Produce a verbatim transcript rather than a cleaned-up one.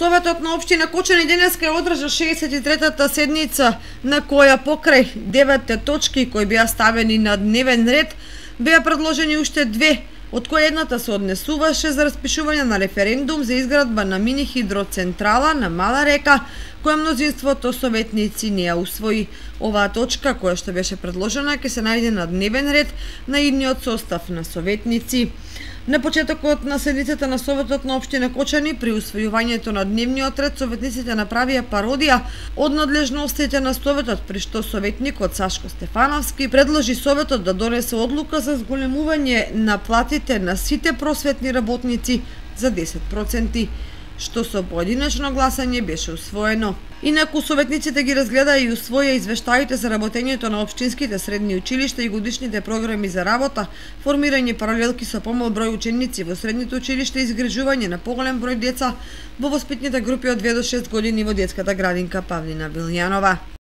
Советот на општина Кочани денеска ја одржа шеесет и третата седница, на која покрај деветте точки кои беа ставени на дневен ред, беа предложени уште две, од кои едната се однесуваше за распишување на референдум за изградба на мини хидроцентрала на Мала река, која мнозинството советници не ја усвои. Оваа точка, која што беше предложена, ќе се најде на дневен ред на идниот состав на советници. На почетокот на седницата на Советот на општина Кочани, при усвојувањето на дневниот ред, советниците направија пародија од надлежностите на Советот, при што советникот Сашко Стефановски предложи Советот да донесе одлука за зголемување на платите на сите просветни работници за десет проценти, што со поединечно гласање беше усвоено. Инаку советниците ги разгледа и усвоја извештаите за работењето на општинските средни училишта и годишните програми за работа, формирање паралелки со помал број ученици во средните училишта и изгражување на поголем број деца во воспитните групи од две до шест години во детската градинка Павлина Вилјанова.